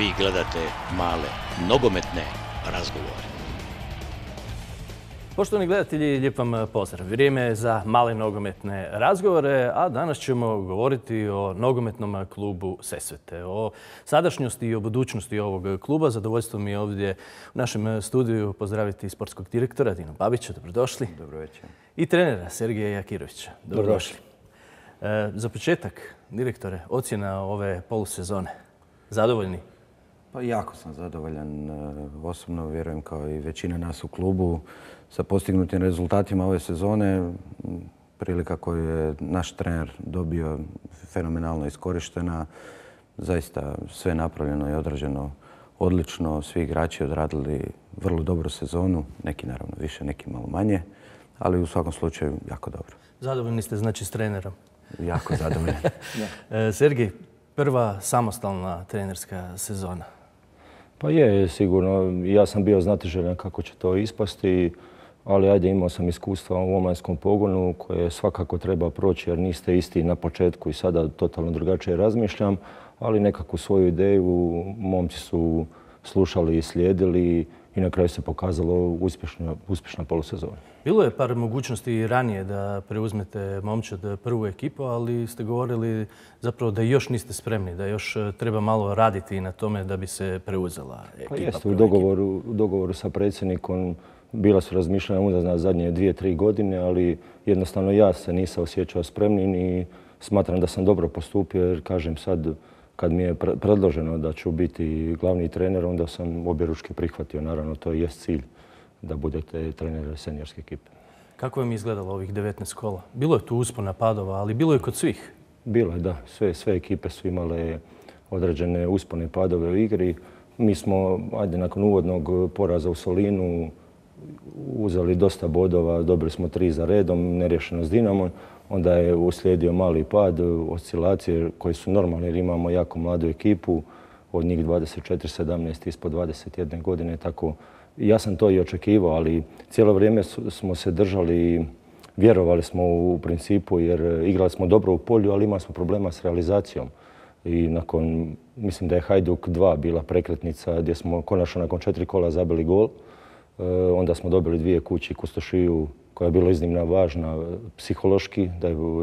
Vi gledate male nogometne razgovore. Poštovani gledatelji, lijep vam pozdrav. Vrijeme je za male nogometne razgovore, a danas ćemo govoriti o nogometnom klubu Sesvete, o sadašnjosti i o budućnosti ovog kluba. Zadovoljstvo mi je ovdje u našem studiju pozdraviti sportskog direktora Dino Babića. Dobrodošli. Dobro večer. I trenera Sergeja Jakirovića. Dobrodošli. Za početak, direktore, ocjena ove polusezone. Zadovoljni? Pa jako sam zadovoljan. Osobno vjerujem kao i većina nas u klubu sa postignutim rezultatima ove sezone. Prilika koju je naš trener dobio fenomenalno iskorištena. Zaista sve napravljeno i odrađeno odlično. Svi igrači odradili vrlo dobru sezonu. Neki naravno više, neki malo manje. Ali u svakom slučaju jako dobro. Zadovoljni ste znači s trenerom? Jako zadovoljan. Sergej, prva samostalna trenerska sezona. Pa je, sigurno. Ja sam bio znatiželjan kako će to ispasti, ali ajde, imao sam iskustva u omladinskom pogonu koje svakako treba proći jer niste isti na početku i sada totalno drugačije razmišljam, ali nekakvu svoju ideju momci su slušali i slijedili i na kraju se pokazalo uspješna polusezona. Bilo je par mogućnosti i ranije da preuzmete momčad prvu ekipu, ali ste govorili zapravo da još niste spremni, da još treba malo raditi na tome da bi se preuzela ekipa. Pa jeste, u dogovoru sa predsjednikom bila su razmišljanja unazad zadnje 2-3 godine, ali jednostavno ja se nisam osjećao spremnim i smatram da sam dobro postupio jer kažem sad kad mi je predloženo da ću biti glavni trener, onda sam objeručke prihvatio. Naravno, to jest cilj da budete trener seniorske ekipe. Kako vam je izgledalo ovih 19 kola? Bilo je tu uspona padova, ali bilo je kod svih. Bilo je, da. Sve ekipe su imale određene uspone i padove u igri. Mi smo, nakon uvodnog poraza u Solinu, uzeli dosta bodova, dobili smo 3 za redom, nerješeno s Dinamom. Onda je uslijedio mali pad, oscilacije koje su normalne jer imamo jako mladu ekipu, od njih 24-17 ispod 21 godine. Tako, ja sam to i očekivao, ali cijelo vrijeme smo se držali, vjerovali smo u principu jer igrali smo dobro u polju, ali imali smo problema s realizacijom. I mislim da je Hajduk 2 bila prekretnica gdje smo konačno nakon 4 kola zabili gol. Onda smo dobili 2 kući Kustošiju koja je bila iznimno važna psihološki,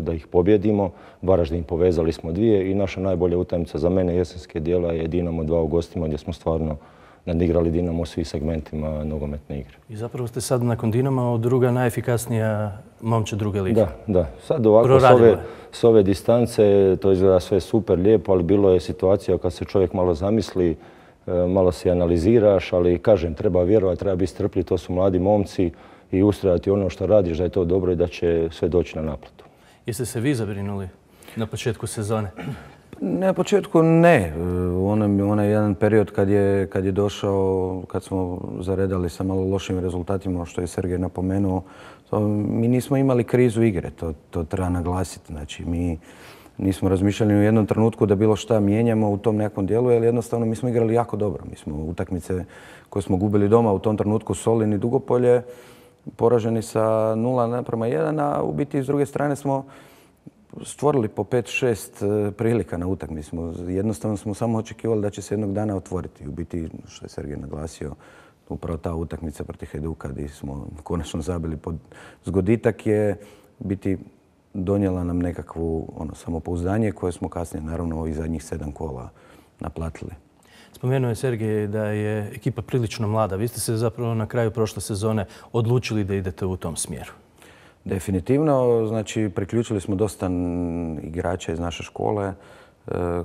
da ih pobjedimo. Varaždin povezali smo 2 i naša najbolja utakmica za mene jesenske dijela je Dinamo 2 u gostima gdje smo stvarno nadigrali Dinamo u svim segmentima nogometne igre. I zapravo ste sad nakon Dinama druga najefikasnija momčad druge lige. Da. Sad ovako s ove distance to izgleda sve super lijepo, ali bilo je situacija kad se čovjek malo zamisli, malo se analiziraš, ali kažem, treba vjerovati, treba biti strpljiv, to su mladi momci i ustrajati ono što radiš da je to dobro i da će sve doći na naplatu. Jeste se vi zabrinuli na početku sezone? Na početku ne. Onaj jedan period kad je došao, kad smo zaredali sa malo lošim rezultatima, što je Sergej napomenuo, mi nismo imali krizu igre, to treba naglasiti. Znači, mi nismo razmišljali u jednom trenutku da bilo šta mijenjamo u tom nekom dijelu, jer jednostavno mi smo igrali jako dobro. Mi smo utakmice koje smo gubili doma u tom trenutku Solin i Dugopolje, poraženi sa 0:1, a u biti s druge strane smo stvorili po 5-6 prilika na utakmici. Jednostavno smo samo očekivali da će se jednog dana otvoriti. U biti, što je Sergej naglasio, upravo ta utakmica protiv Hajduka gdje smo konačno zabili pod zgoditak je biti donijela nam nekakvu samopouzdanje koje smo kasnije naravno ovih zadnjih 7 kola naplatili. Spomenuo je Sergej da je ekipa prilično mlada. Vi ste se zapravo na kraju prošle sezone odlučili da idete u tom smjeru. Definitivno. Znači, priključili smo dosta igrača iz naše škole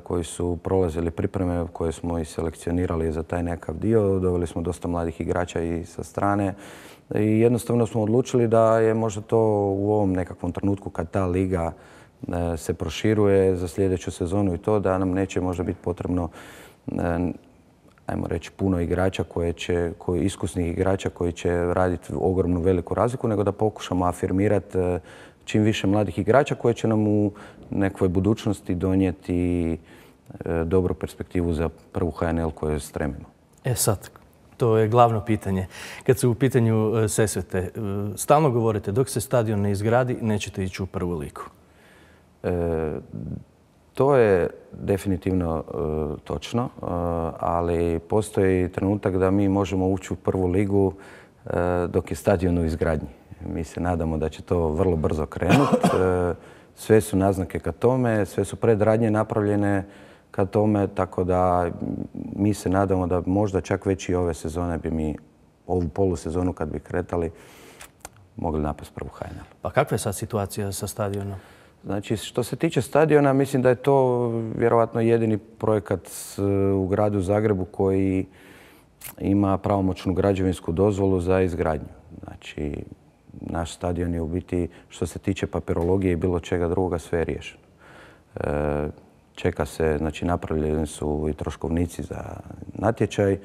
koji su prolazili pripreme koje smo i selekcionirali za taj nekakav dio. Doveli smo dosta mladih igrača i sa strane. I jednostavno smo odlučili da je možda to u ovom nekakvom trenutku kad ta liga se proširuje za sljedeću sezonu i to da nam neće možda biti potrebno ajmo reći puno igrača iskusnih igrača koji će raditi ogromnu veliku razliku, nego da pokušamo afirmirati čim više mladih igrača koji će nam u nekoj budućnosti donijeti dobru perspektivu za prvu HNL koju stremimo. Sad, to je glavno pitanje. Kad su u pitanju Sesvete, stalno govorite dok se stadion ne izgradi nećete ići u prvu ligu. To je definitivno točno, ali postoji trenutak da mi možemo ući u prvu ligu dok je stadion u izgradnji. Mi se nadamo da će to vrlo brzo krenuti. Sve su naznake ka tome, sve su predradnje napravljene ka tome, tako da mi se nadamo da možda čak već i ove sezone bi mi ovu polusezonu kad bi kretali mogli napast prvu HNL. Pa kakva je sad situacija sa stadionom? Znači, što se tiče stadiona, mislim da je to vjerovatno jedini projekat u gradu Zagrebu koji ima pravomoćnu građevinsku dozvolu za izgradnju. Znači, naš stadion je u biti, što se tiče papirologije i bilo čega drugoga, sve je riješeno. Čeka se, znači napravljeni su i troškovnici za natječaj,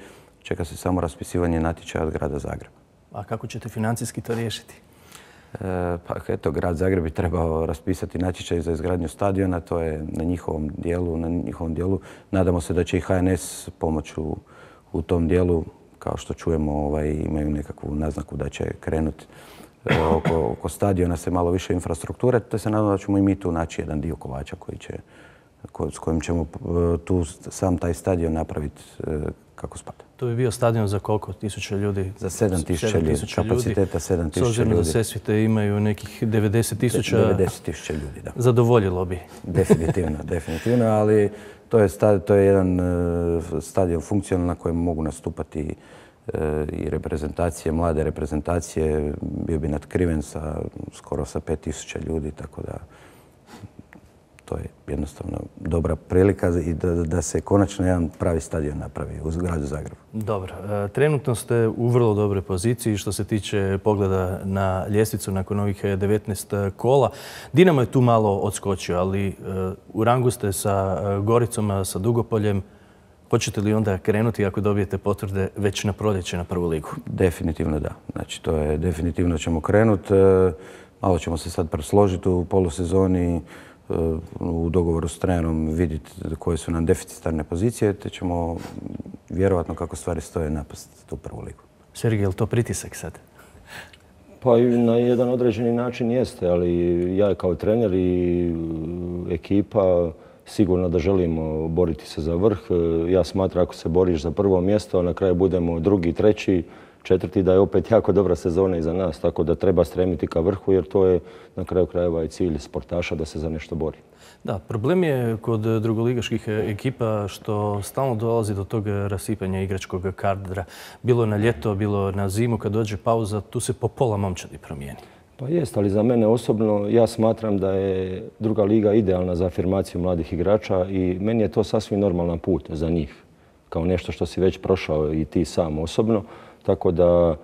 čeka se samo raspisivanje natječaja od grada Zagreba. A kako ćete financijski to riješiti? Pa eto, grad Zagreb bi trebao raspisati natječaj za izgradnju stadiona, to je na njihovom dijelu. Nadamo se da će i HNS pomoći u tom dijelu, kao što čujemo imaju nekakvu naznaku da će krenuti oko stadiona se malo više infrastrukture, te se nadamo da ćemo i mi tu naći jedan dio kolača s kojim ćemo tu sam taj stadion napraviti kako spada. To bi bio stadion za koliko tisuća ljudi? Za 7.000 ljudi, kapaciteta 7.000 ljudi. S obzirom da Sesvete imaju nekih 90.000. 90.000 ljudi, da. Zadovoljilo bi. Definitivno, ali to je jedan stadion funkcionalan na kojem mogu nastupati i reprezentacije, mlade reprezentacije. Bio bi natkriven skoro sa 5.000 ljudi, tako da to je jednostavno dobra prilika i da se konačno jedan pravi stadion napravi u gradu Zagrebu. Dobro. Trenutno ste u vrlo dobroj poziciji što se tiče pogleda na ljestvicu nakon ovih 19 kola. Dinamo je tu malo odskočio, ali u rangu ste sa Goricom, sa Dugopoljem. Hoćete li onda krenuti ako dobijete potvrde već na proljeće na prvu ligu? Definitivno da. Znači, to je definitivno ćemo krenuti. Malo ćemo se sad presložiti u polusezoni, u dogovoru s trenerom vidjeti koje su nam deficitarne pozicije, te ćemo vjerovatno kako stvari stoje napasti tu prvu ligu. Sergej, je li to pritisak sad? Pa i na jedan određeni način jeste, ali ja kao trener i ekipa sigurno da želimo boriti se za vrh. Ja smatram ako se boriš za prvo mjesto, a na kraju budemo drugi, treći, četvrti, da je opet jako dobra sezona iza nas, tako da treba stremiti ka vrhu jer to je na kraju krajeva i cilj sportaša da se za nešto bori. Da, problem je kod drugoligaških ekipa što stalno dolazi do tog rasipanja igračkog kadra. Bilo na ljeto, bilo na zimu, kad dođe pauza, tu se po pola momčadi promijeni. Pa jest, ali za mene osobno ja smatram da je druga liga idealna za afirmaciju mladih igrača i meni je to sasvim normalan put za njih, kao nešto što si već prošao i ti sam osobno. Tako da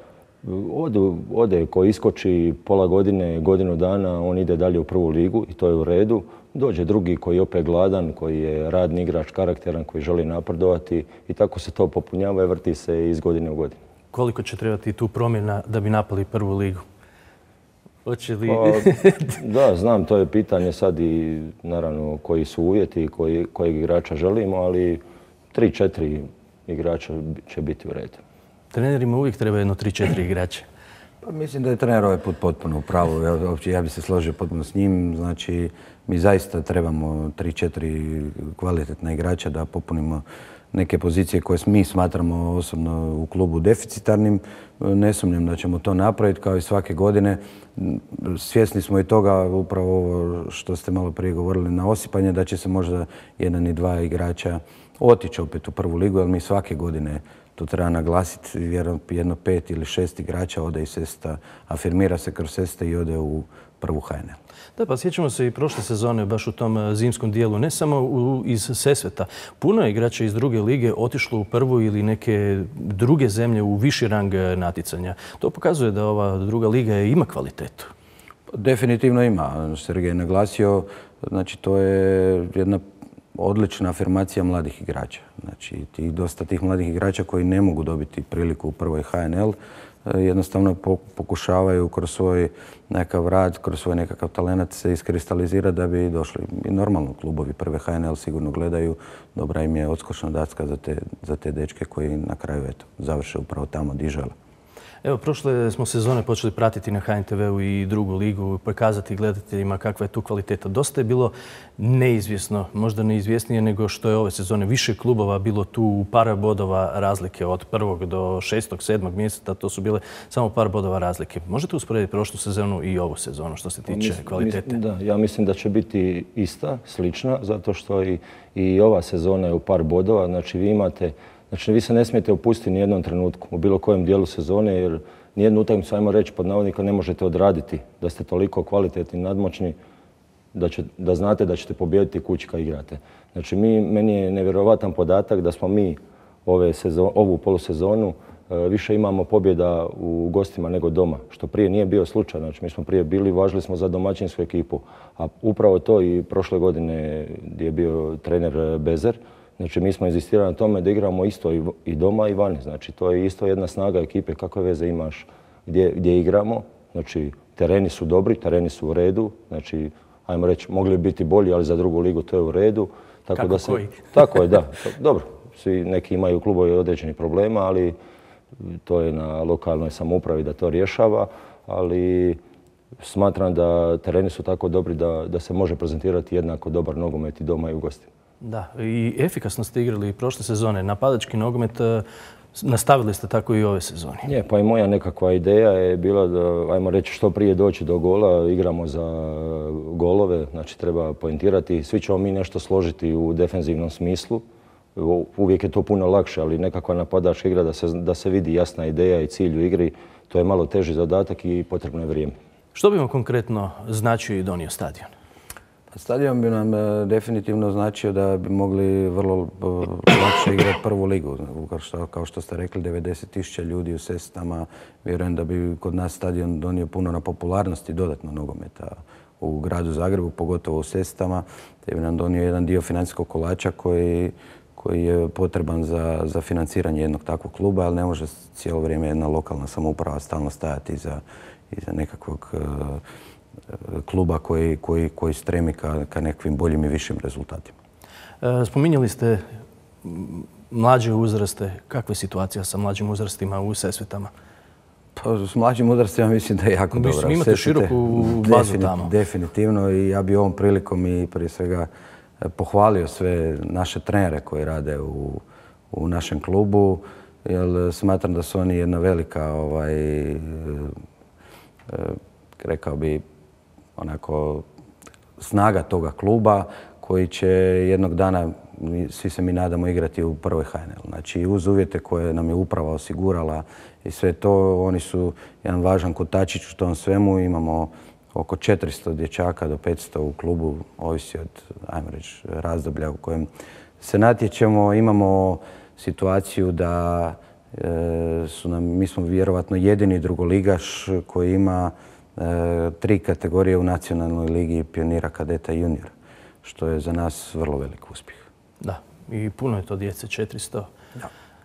ode ko iskoči pola godine, godinu dana, on ide dalje u prvu ligu i to je u redu. Dođe drugi koji je opet gladan, koji je radni igrač, karakteran, koji želi napredovati i tako se to popunjava i vrti se iz godine u godinu. Koliko će trebati tu promjena da bi napali prvu ligu? Hoće li... Da, znam, to je pitanje sad i naravno koji su uvjeti i kojeg igrača želimo, ali 3-4 igrača će biti u redu. Trenerima uvijek treba jedno 3-4 igrače. Pa mislim da je trener ovaj put potpuno u pravu. Ja bi se složio potpuno s njim. Znači, mi zaista trebamo 3-4 kvalitetna igrača da popunimo neke pozicije koje mi smatramo osobno u klubu deficitarnim. Ne sumnjam da ćemo to napraviti kao i svake godine. Svjesni smo i toga, upravo ovo što ste malo prije govorili na osipanje, da će se možda jedan i dva igrača otići opet u prvu ligu, jer mi svake godine to treba naglasiti, vjerujem jedno 5 ili 6 igrača ode iz Sesveta, afirmira se kroz Sesvete i ode u prvu HNL. Da, pa sjećamo se i prošle sezone baš u tom zimskom dijelu, ne samo iz Sesveta. Puno je igrača iz druge lige otišlo u prvu ili neke druge zemlje u viši rang natjecanja. To pokazuje da ova druga liga ima kvalitetu. Definitivno ima. Sergej je naglasio, znači to je jedna odlična afirmacija mladih igrača. Znači, dosta tih mladih igrača koji ne mogu dobiti priliku u prvoj HNL, jednostavno pokušavaju kroz svoj nekakav rad, kroz svoj nekakav talent se iskristalizirati da bi došli. I normalno klubovi prve HNL sigurno gledaju, dobra im je odskočna daska za te dečke koji na kraju završe upravo tamo gdje žele. Evo, prošle smo sezone počeli pratiti na HNTV-u i drugu ligu, pokazati gledateljima kakva je tu kvaliteta. Dosta je bilo neizvjesno, možda neizvjesnije nego što je ove sezone. Više klubova bilo tu par bodova razlike od 1. do 6. 7. mjeseca. To su bile samo par bodova razlike. Možete usporediti prošlu sezonu i ovu sezonu što se tiče kvalitete? Da, ja mislim da će biti ista, slična, zato što i ova sezona je u par bodova. Znači, vi se ne smijete opustiti ni jednom trenutku u bilo kojem dijelu sezone, jer nijednu utakmicu, ajmo reći, pod navodnika ne možete odraditi da ste toliko kvalitetni, nadmoćni, da znate da ćete pobijediti kući kad igrate. Znači, meni je nevjerovatan podatak da smo mi ovu polusezonu više imamo pobjeda u gostima nego doma, što prije nije bio slučaj. Znači, mi smo prije bili, važili smo za domaćinsku ekipu, a upravo to i prošle godine gdje je bio trener Bezer. Znači, mi smo inzistirali na tome da igramo isto i doma i vani. Znači, to je isto jedna snaga ekipe, kakve veze imaš gdje igramo. Znači, tereni su dobri, tereni su u redu. Znači, ajmo reći, mogli biti bolji, ali za drugu ligu to je u redu. Koji? Tako je, da. Dobro, svi neki imaju klubovi određenih problema, ali to je na lokalnoj samoupravi da to rješava. Ali smatram da tereni su tako dobri da se može prezentirati jednako dobar nogomet i doma i u gostima. Da, i efikasno ste igrali prošle sezone. Napadački nogomet nastavili ste tako i ove sezone. Je, pa i moja nekakva ideja je bila da, ajmo reći, što prije doći do gola, igramo za golove, znači treba poentirati. Svi ćemo mi nešto složiti u defenzivnom smislu. Uvijek je to puno lakše, ali nekakva napadačka igra da se vidi jasna ideja i cilj u igri, to je malo teži zadatak i potrebno je vrijeme. Što bi vam konkretno značio i donio stadion? Stadion bi nam definitivno značio da bi mogli vrlo lakše igrati prvu ligu. Kao što ste rekli, 90.000 ljudi u Sesvetama. Vjerujem da bi kod nas stadion donio puno na popularnosti dodatno nogometa u gradu Zagrebu, pogotovo u Sesvetama. Te bi nam donio jedan dio financijskog kolača koji je potreban za financiranje jednog takvog kluba, ali ne može cijelo vrijeme jedna lokalna samouprava stalno stajati iza nekakvog kluba koji stremi ka nekakvim boljim i višim rezultatima. Spominjali ste mlađe uzraste. Kakva je situacija sa mlađim uzrastima u Sesvetama? Pa, s mlađim uzrastima mislim da je jako dobra. Mislim, imate široku bazu tamo. Definitivno, i ja bi ovom prilikom i prije svega pohvalio sve naše trenere koji rade u našem klubu, jer smatram da su oni jedna velika, rekao bi, onako snaga toga kluba koji će jednog dana, svi se mi nadamo, igrati u prvoj HNL. Znači, uz uvjete koje nam je uprava osigurala i sve to, oni su jedan važan kotačić u tom svemu. Imamo oko 400 dječaka do 500 u klubu, ovisi od, ajmo reći, razdoblja u kojem se natječemo. Imamo situaciju da mi smo vjerovatno jedini drugoligaš koji ima 3 kategorije u nacionalnoj ligi pionira, kadeta i juniora, što je za nas vrlo velik uspjeh. Da, i puno je to djece, 400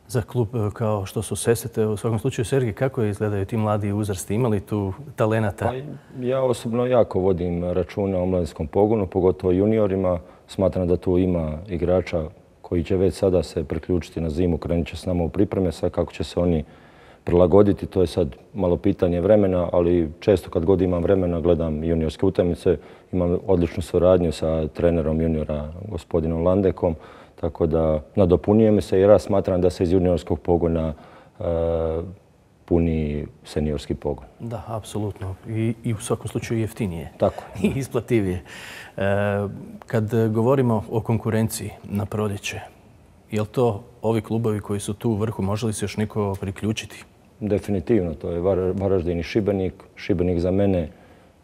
za klub kao što su Sesvete. U svakom slučaju, Sergij, kako izgledaju ti mladi uzrasti? Imali tu talenata? Pa, ja osobno jako vodim računa o mladinskom pogonu, pogotovo juniorima. Smatram da tu ima igrača koji će već sada se priključiti na zimu, krenut će s nama u pripreme. Sad kako će se oni prilagoditi, to je sad malo pitanje vremena, ali često kad god imam vremena gledam juniorske utakmice. Imam odličnu suradnju sa trenerom juniora, gospodinom Landekom, tako da nadopunjujemo se jer ja smatram da se iz juniorskog pogona puni seniorski pogon. Da, apsolutno. I u svakom slučaju jeftinije. Tako. I isplativije. Kad govorimo o konkurenciji na proljeće, je li to ovi klubovi koji su tu u vrhu, može li se još neko priključiti? Definitivno, to je Varaždin i Šibenik. Šibenik za mene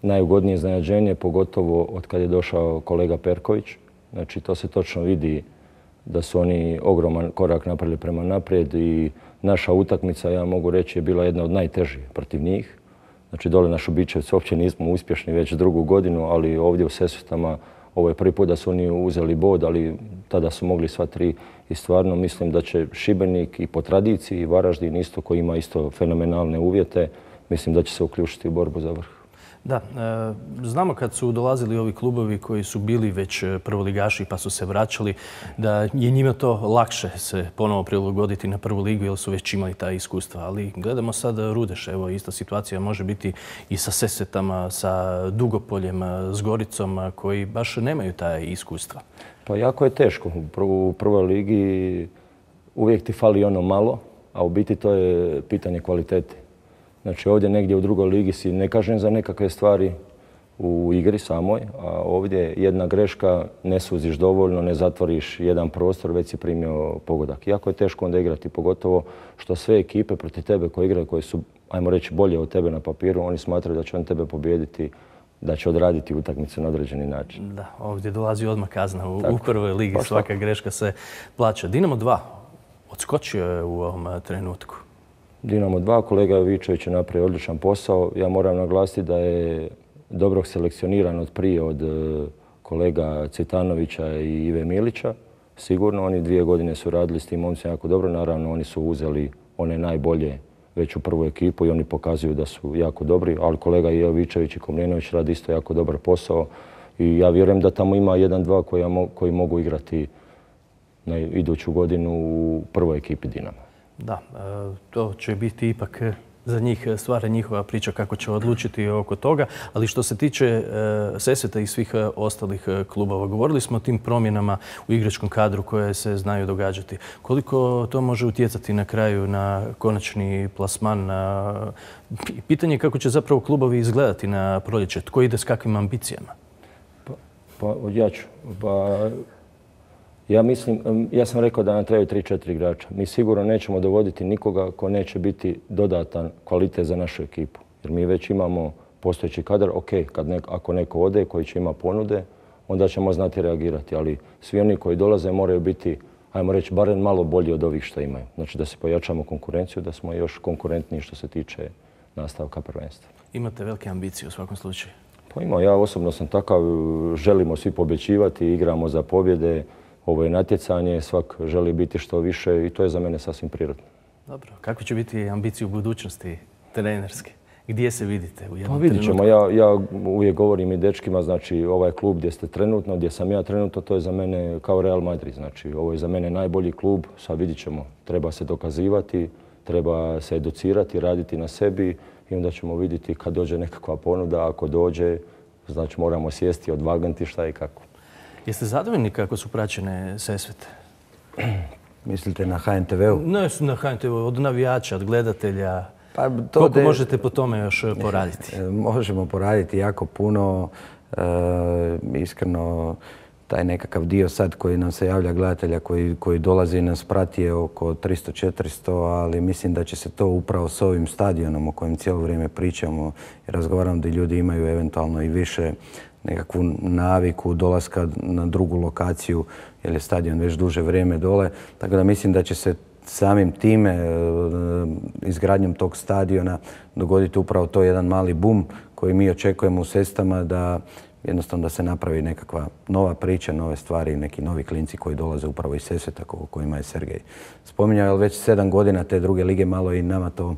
najugodnije iznenađenje, pogotovo od kad je došao kolega Perković. Znači, to se točno vidi da su oni ogroman korak napravili prema naprijed i naša utakmica, ja mogu reći, je bila jedna od najtežih protiv njih. Znači, dole na Šubićevcu uopće nismo uspješni već drugu godinu, ali ovdje u Sesvetama ovo je prvi put da su oni uzeli bod, ali tada su mogli sva 3 i stvarno mislim da će Šibenik i po tradiciji i Varaždin isto koji ima isto fenomenalne uvjete, mislim da će se uključiti u borbu za vrh. Da, znamo kad su dolazili ovi klubovi koji su bili već prvoligaši pa su se vraćali, da je njima to lakše se ponovo prilagoditi na prvu ligu jer su već imali ta iskustva. Ali gledamo sad Rudeš, evo ista situacija može biti i sa Sesvetama, sa Dugopoljem, s Goricom koji baš nemaju ta iskustva. Pa jako je teško. U prvoj ligi uvijek ti fali ono malo, a u biti to je pitanje kvalitete. Znači ovdje negdje u drugoj ligi si ne kažem za nekakve stvari u igri samoj, a ovdje jedna greška, ne suziš dovoljno, ne zatvoriš jedan prostor, već si primio pogodak. Jako je teško onda igrati, pogotovo što sve ekipe protiv tebe koje igraju, koje su, ajmo reći, bolje od tebe na papiru, oni smatraju da će on tebe pobijediti, da će odraditi utakmicu na određeni način. Da, ovdje dolazi odmah kazna u prvoj ligi, pa svaka greška se plaća. Dinamo 2 odskočio je u ovom trenutku. Dinamo 2, kolega Jovičević je napravio odličan posao. Ja moram naglasiti da je dobro selekcioniran od prije od kolega Citanovića i Ive Milića. Sigurno, oni 2 godine su radili s tim momcima jako dobro. Naravno, oni su uzeli one najbolje već u prvu ekipu i oni pokazuju da su jako dobri. Ali kolega Jovičević i Komljenović radi isto jako dobar posao. I ja vjerujem da tamo ima 1-2 koji mogu igrati na iduću godinu u prvoj ekipi Dinama. Da, to će biti ipak za njih stvara njihova priča kako će odlučiti oko toga. Ali što se tiče Sesveta i svih ostalih klubova, govorili smo o tim promjenama u igračkom kadru koje se znaju događati. Koliko to može utjecati na kraju na konačni plasman? Pitanje je kako će zapravo klubovi izgledati na proljeće. Tko ide s kakvim ambicijama? Ja ću. Ja mislim, ja sam rekao da nam trebaju 3-4 igrača. Mi sigurno nećemo dovoditi nikoga ko neće biti dodatan kvalitet za našu ekipu. Jer mi već imamo postojeći kadar, ok, ako neko ode koji će ima ponude, onda ćemo znati reagirati. Ali svi oni koji dolaze moraju biti, ajmo reći, barem malo bolji od ovih što imaju. Znači da se pojačamo konkurenciju, da smo još konkurentniji što se tiče nastavka prvenstva. Imate velike ambicije u svakom slučaju? Pa imam, ja osobno sam takav, želimo svi pobjeđivati, igramo za pobjede. Ovo je natjecanje, svak želi biti što više i to je za mene sasvim prirodno. Dobro. Kakve će biti ambicije u budućnosti trenerske? Gdje se vidite u jednom trenutku? Pa vidit ćemo. Ja uvijek govorim i dečkima, znači ovaj klub gdje ste trenutno, gdje sam ja trenutno, to je za mene kao Real Madrid. Znači ovo je za mene najbolji klub, sad vidit ćemo. Treba se dokazivati, treba se educirati, raditi na sebi i onda ćemo vidjeti kad dođe nekakva ponuda. Ako dođe, znači moramo sjesti, odvagnuti šta i kako. Jeste zadovoljni kako su praćene Sesvete? Mislite na HNTV-u? Ne, na HNTV-u, od navijača, od gledatelja. Koliko možete po tome još poraditi? Možemo poraditi jako puno. Iskreno, taj nekakav dio sad koji nam se javlja gledatelja, koji dolazi i nas prati je oko 300-400, ali mislim da će se to upravo s ovim stadionom o kojem cijelo vrijeme pričamo i razgovaramo da ljudi imaju eventualno i više nekakvu naviku dolaska na drugu lokaciju jer je stadion već duže vrijeme dole. Tako da mislim da će se samim time, izgradnjom tog stadiona, dogoditi upravo to jedan mali bum koji mi očekujemo u Sesvetama da jednostavno da se napravi nekakva nova priča, nove stvari, neki novi klinci koji dolaze upravo iz Sesveta o kojima je Sergej spominjao. Ali već 7 godina te druge lige malo i nama to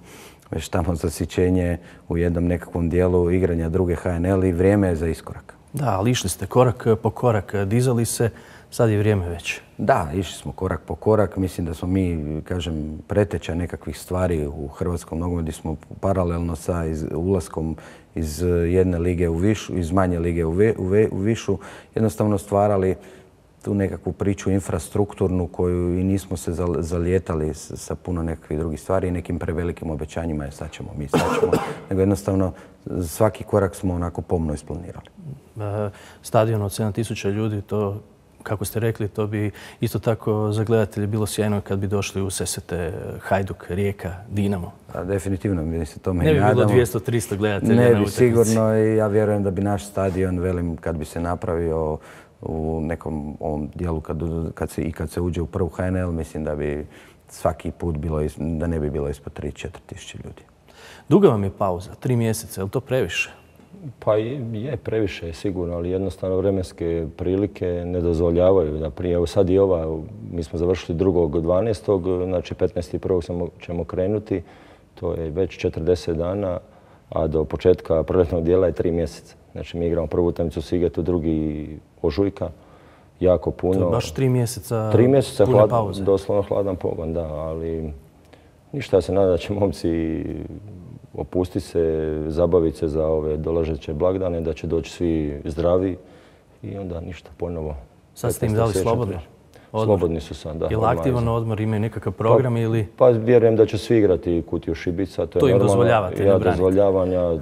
već tamo zasićenje u jednom nekakvom dijelu igranja druge HNL i vrijeme je za iskorak. Da, ali išli ste korak po korak, dizali se, sad je vrijeme već. Da, išli smo korak po korak. Mislim da smo mi, kažem, preteča nekakvih stvari u hrvatskom nogometu gdje smo paralelno sa ulaskom iz jedne lige u višu, iz manje lige u višu, jednostavno stvarali tu nekakvu priču infrastrukturnu koju i nismo se zalijetali sa puno nekakvih drugih stvari i nekim prevelikim obećanjima je sad ćemo, nego jednostavno svaki korak smo onako pomno isplanirali. Stadion od 7000 ljudi, to, kako ste rekli, to bi isto tako za gledatelje bilo sjajno kad bi došli u Sesvete, Hajduk, Rijeka, Dinamo. Definitivno, mi se tome ne i nadamo. Ne bi bilo 200-300 gledatelja na utakmici. Ne bi sigurno i ja vjerujem da bi naš stadion, velim, kad bi se napravio u nekom ovom dijelu kad se uđe u prvu HNL, mislim da bi svaki put da ne bi bilo ispod 3-4 tisuće ljudi. Duga vam je pauza, 3 mjeseca, je li to previše? Pa je previše sigurno, ali jednostavno vremenske prilike ne dozvoljavaju da prije. Evo sad i ova, mi smo završili 2.12., znači 15.1. ćemo krenuti, to je već 40 dana. a do početka proljetnog dijela je 3 mjeseca. Znači mi igramo prvu utakmicu u Sigetu, 2. ožujka, jako puno. To je baš 3 mjeseca 3 mjeseca pune pauze. Doslovno hladan pogon, da, ali ništa, ja se nadam da će momci opustiti se, zabaviti se za ove dolazeće blagdane, da će doći svi zdravi i onda ništa ponovo. Sad ste im dali slobodno? Slobodni su sad, da. Je li aktivan odmor, imaju nekakav program ili? Pa vjerujem da će svi igrati Kutiju Šibica. To im dozvoljavate, ne branite? Dozvoljavanja,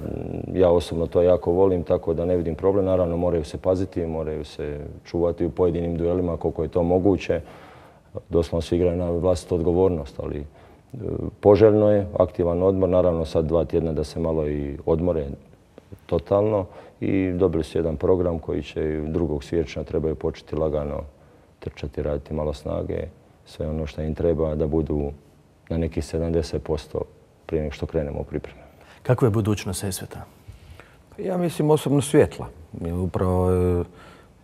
ja osobno to jako volim, tako da ne vidim problem. Naravno, moraju se paziti, moraju se čuvati u pojedinim duelima koliko je to moguće. Doslovno svi igraju na vlastitu odgovornost, ali poželjno je aktivan odmor. Naravno, sad 2 tjedna da se malo i odmore totalno i dobili su jedan program koji će 2. siječnja trebaju početi lagano trčati, raditi malo snage, sve ono što im treba da budu na nekih 70% prije nego što krenemo u pripreme. Kakva je budućnost Sesveta? Ja mislim osobno svjetla. Upravo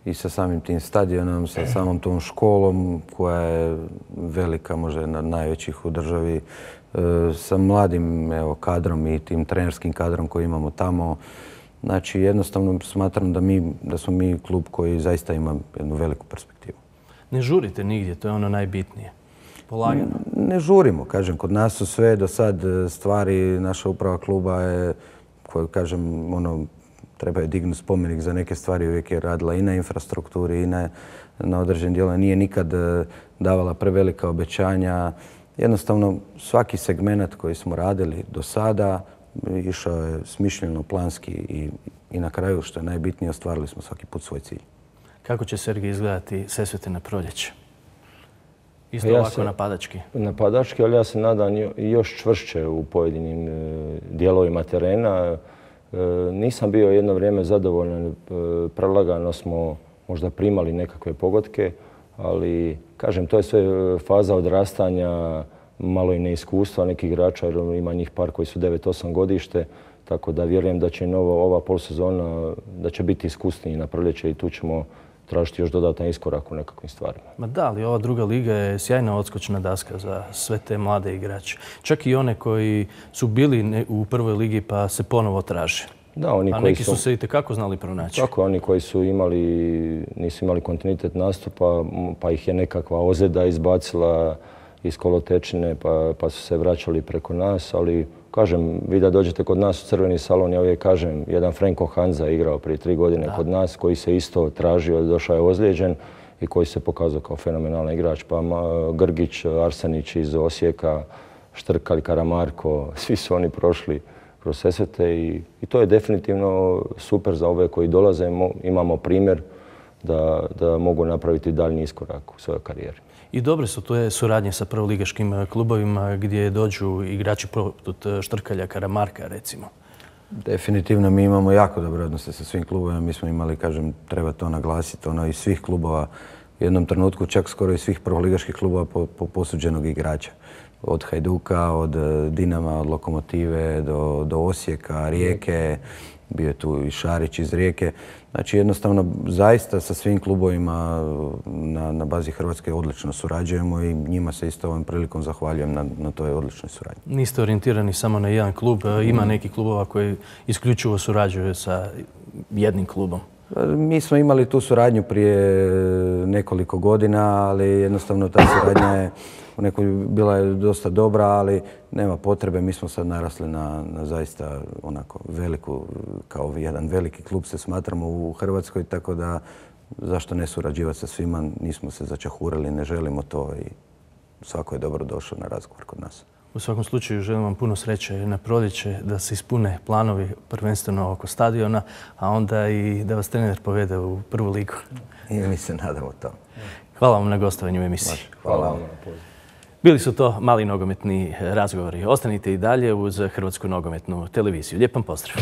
i sa samim tim stadionom, sa samom tom školom koja je velika, možda jedna od najvećih u državi, sa mladim kadrom i tim trenerskim kadrom koji imamo tamo. Znači jednostavno smatram da smo mi klub koji zaista ima jednu veliku perspektivu. Ne žurite nigdje, to je ono najbitnije. Polagano. Ne žurimo, kažem, kod nas su sve do sad stvari, naša uprava kluba je, koju kažem, treba je dignuti spomenik za neke stvari, uvijek je radila i na infrastrukturi i na određenim dijelima. Nije nikad davala prevelika obećanja. Jednostavno, svaki segment koji smo radili do sada išao je smišljeno, planski i na kraju, što je najbitnije, ostvarili smo svaki put svoj cilj. Kako će, Sergej, izgledati Sesvete na proljeće? Isto ovako napadački? Napadački, ali ja se nadam još čvršće u pojedinim dijelovima terena. Nisam bio jedno vrijeme zadovoljan, prelagano smo možda primali nekakve pogodke, ali kažem, to je sve faza odrastanja, malo i neiskustva nekih igrača, jer ima njih par koji su 9-8 godište, tako da vjerujem da će ova polsezona da će biti iskusniji na proljeće i tu ćemo tražiti još dodatan iskorak u nekakvim stvarima. Ma da, ali ova druga liga je sjajna odskočna daska za sve te mlade igrače. Čak i one koji su bili u prvoj ligi pa se ponovo traže. Da, oni a koji neki su se itekako znali pronaći. Tako, oni koji nisu imali kontinuitet nastupa, pa ih je nekakva ozljeda izbacila iz kolotečine, pa su se vraćali preko nas, ali kažem, vi da dođete kod nas u Crveni salon, ja uvijek kažem, jedan Franko Hanza igrao prije 3 godine kod nas, koji se isto tražio, došao je ozlijeđen i koji se pokazao kao fenomenalan igrač. Pa Grgić, Arsenić iz Osijeka, Štrkal, Karamarko, svi su oni prošli kroz Sesvete i to je definitivno super za ove koji dolaze. Imamo primjer da mogu napraviti daljnji iskorak u svojoj karijeri. I dobre su to suradnje sa prvoligaškim klubovima gdje dođu igrači poput Štrkalja, Karamarka recimo. Definitivno mi imamo jako dobre odnose sa svim klubovima. Mi smo imali, kažem, treba to naglasiti, iz svih klubova u jednom trenutku, čak skoro iz svih prvoligaških klubova po posuđenog igrača. Od Hajduka, od Dinama, od Lokomotive do Osijeka, Rijeke, bio je tu i Šarić iz Rijeke. Znači jednostavno zaista sa svim klubovima na bazi Hrvatske odlično surađujemo i njima se isto ovom prilikom zahvaljujem na toj odličnoj suradnji. Niste orijentirani samo na jedan klub, ima neki klubova koji isključivo surađuju sa jednim klubom? Mi smo imali tu suradnju prije nekoliko godina, ali jednostavno ta suradnja je bila je dosta dobra, ali nema potrebe. Mi smo sad narasli na zaista onako veliku, kao jedan veliki klub se smatramo u Hrvatskoj, tako da zašto ne surađivati sa svima, nismo se začahurili, ne želimo to i svako je dobro došao na razgovor kod nas. U svakom slučaju želim vam puno sreće na proljeće, da se ispune planovi prvenstveno oko stadiona, a onda i da vas trener povede u prvu ligu. I mi se nadamo to. Hvala vam na gostovanju u emisiji. Hvala vam. Bili su to mali nogometni razgovori. Ostanite i dalje uz Hrvatsku nogometnu televiziju. Lijep vam pozdrav.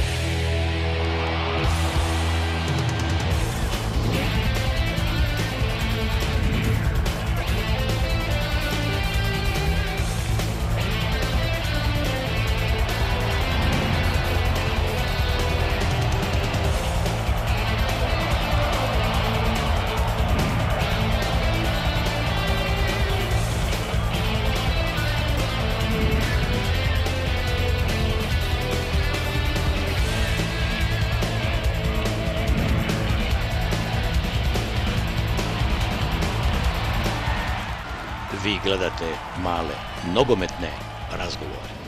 Vi gledate Male nogometne razgovore.